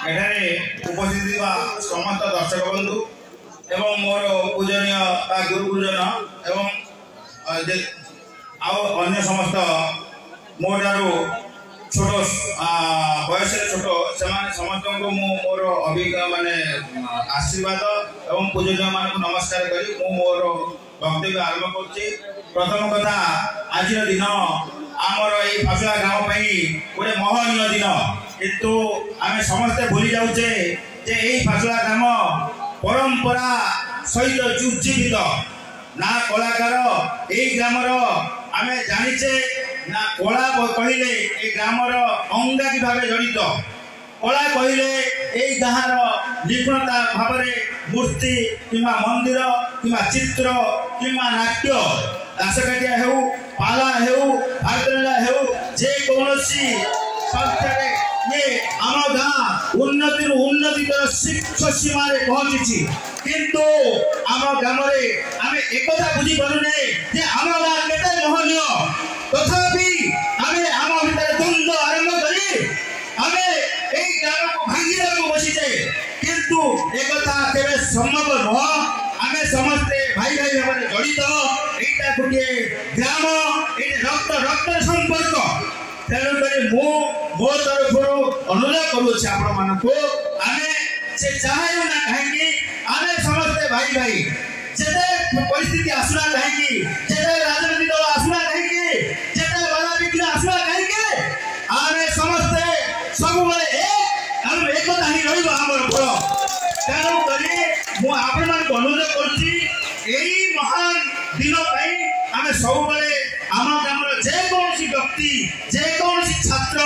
ଏଠାରେ ଉପସ୍ଥିତ ଥିବା ସମସ୍ତ ଦର୍ଶକ ବନ୍ଧୁ ଏବଂ ମୋର ପୂଜନୀୟ ବା ଗୁରୁ ଗୁରୁଜନ ଏବଂ ଆଉ ଅନ୍ୟ ସମସ୍ତ ମୋ ଠାରୁ ଛୋଟ ବୟସରେ ଛୋଟ ସେମାନେ ସମସ୍ତଙ୍କୁ ମୁଁ ମୋର ଅଭିଜ୍ଞ ମାନେ ଆଶୀର୍ବାଦ ଏବଂ ପୂଜନୀୟମାନଙ୍କୁ ନମସ୍କାର କରି ମୁଁ ମୋର ବକ୍ତବ୍ୟ ଆରମ୍ଭ କରୁଛି। ପ୍ରଥମ କଥା, ଆଜିର ଦିନ ଆମର ଏଇ ଫାସୁଳା ଗ୍ରାମ ପାଇଁ ଗୋଟେ ମହନୀୟ ଦିନ, କିନ୍ତୁ ଆମେ ସମସ୍ତେ ଭୁଲି ଯାଉଛେ ଯେ ଏଇ ଫାସୁଳା ଗ୍ରାମ ପରମ୍ପରା ସହିତ ଉଜ୍ଜୀବିତ। ନା କଳାକାର ଏଇ ଗ୍ରାମର ଆମେ ଜାଣିଛେ, ନା କଳା କହିଲେ ଏଇ ଗ୍ରାମର ଅଙ୍ଗାଙ୍ଗୀ ଭାବେ ଜଡ଼ିତ। କଳା କହିଲେ ଏଇ ଗାଁର ନିପୁଣତା ଭାବରେ ମୂର୍ତ୍ତି କିମ୍ବା ମନ୍ଦିର କିମ୍ବା ଚିତ୍ର କିମ୍ବା ନାଟ୍ୟ, ଦାସକାଠିଆ ହେଉ, ପାଲା ହେଉ, ଭାରତଲୀଳା ହେଉ, ଯେକୌଣସି ସଂସ୍ଥାରେ ଇଏ ଆମ ଗାଁ ଉନ୍ନତିରୁ ଉନ୍ନତିର ଶୀର୍ଷ ସୀମାରେ ପହଞ୍ଚିଛି। କିନ୍ତୁ ଆମ ଗ୍ରାମରେ ଆମେ ଏକଥା ବୁଝିପାରୁନେ ଯେ ଆମ ଗାଁ କେତେ ମହନୀୟ। ତଥାପି ଆମେ ଆମ ଭିତରେ ଦ୍ୱନ୍ଦ୍ୱ ଆରମ୍ଭ କରି ଆମେ ଏଇ ଗ୍ରାମକୁ ଭାଙ୍ଗିବାକୁ ବସିଛେ, କିନ୍ତୁ ଏକଥା କେବେ ସମ୍ଭବ ନୁହଁ। ଆମେ ସମସ୍ତେ ଭାଇ ଭାଇ ଭାବରେ ଜଡ଼ିତ। ଏଇଟା ଗୋଟିଏ ଗ୍ରାମ, ଏଇଟା ରକ୍ତ ରକ୍ତର ସମ୍ପର୍କ। ତେଣୁକରି ମୁଁ ମୋ ତରଫରୁ ଅନୁରୋଧ କରୁଅଛି ଆପଣମାନଙ୍କୁ, ଆମେ ସେ ଯାହା ହେଉ ନା କାହିଁକି ଆମେ ସମସ୍ତେ ଭାଇ ଭାଇ। ଯେତେ ପରିସ୍ଥିତି ଆସୁନା କାହିଁକି, ଯେତେ ରାଜନୀତି ଦଳ ଆସୁନା କାହିଁକି, ଯେତେ ବାଧାବିଘ୍ନ ଆସୁନା କାହିଁକି, ଆମେ ସମସ୍ତେ ସବୁବେଳେ ଏକ, ଆମ ଏକତା ହିଁ ରହିବ ଆମର ବଳ। ତେଣୁକରି ମୁଁ ଆପଣମାନଙ୍କୁ ଅନୁରୋଧ କରୁଛି, ଏଇ ମହାନ ଦିନ ପାଇଁ ଆମେ ସବୁବେଳେ ଆମ ଗ୍ରାମର ଯେକୌଣସି ବ୍ୟକ୍ତି, ଯେକୌଣସି ଛାତ୍ର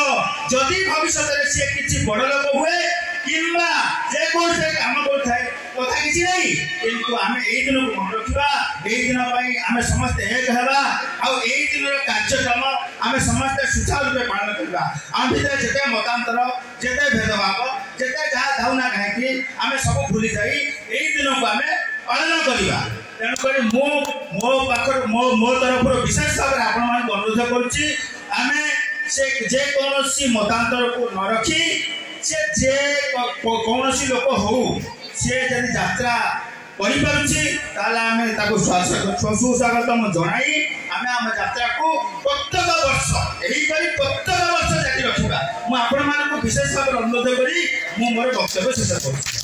ଯଦି ଭବିଷ୍ୟତରେ ସିଏ କିଛି ବଡ଼ ଲୋକ ହୁଏ କିମ୍ବା ଯେକୌଣସି କାମ କରୁଥାଏ, କଥା କିଛି ନାହିଁ, କିନ୍ତୁ ଆମେ ଏଇ ଦିନକୁ ମନେ ରଖିବା। ଏଇ ଦିନ ପାଇଁ ଆମେ ସମସ୍ତେ ଏକ ହେବା ଆଉ ଏଇ ଦିନର କାର୍ଯ୍ୟକ୍ରମ ଆମେ ସମସ୍ତେ ସୁଚାରୁ ରୂପେ ପାଳନ କରିବା। ଆମ ଭିତରେ ଯେତେ ମତାନ୍ତର, ଯେତେ ଭେଦଭାବ, ଯେତେ ଯାହା ଥାଉ ନା କାହିଁକି, ଆମେ ସବୁ ଭୁଲି ଯାଇ ଏଇ ଦିନକୁ ଆମେ ପାଳନ କରିବା। ତେଣୁକରି ମୁଁ ମୋ ପାଖରୁ ମୋ ତରଫରୁ ବିଶେଷ ଭାବରେ ଆପଣମାନଙ୍କୁ ଅନୁରୋଧ କରୁଛି, ଆମେ ସେ ଯେକୌଣସି ମତାନ୍ତରକୁ ନ ରଖି, ସେ ଯେ କୌଣସି ଲୋକ ହଉ, ସିଏ ଯଦି ଯାତ୍ରା କରିପାରୁଛି ତାହେଲେ ଆମେ ତାକୁ ସୁସ୍ୱାଗତମ ଜଣାଇ ଆମେ ଆମ ଯାତ୍ରାକୁ ପ୍ରତ୍ୟେକ ବର୍ଷ ଏହିପରି ପ୍ରତ୍ୟେକ ବର୍ଷ ଜାରି ରଖିବା। ମୁଁ ଆପଣମାନଙ୍କୁ ବିଶେଷ ଭାବରେ ଅନୁରୋଧ କରି ମୁଁ ମୋର ବକ୍ତବ୍ୟ ଶେଷ କରୁଛି।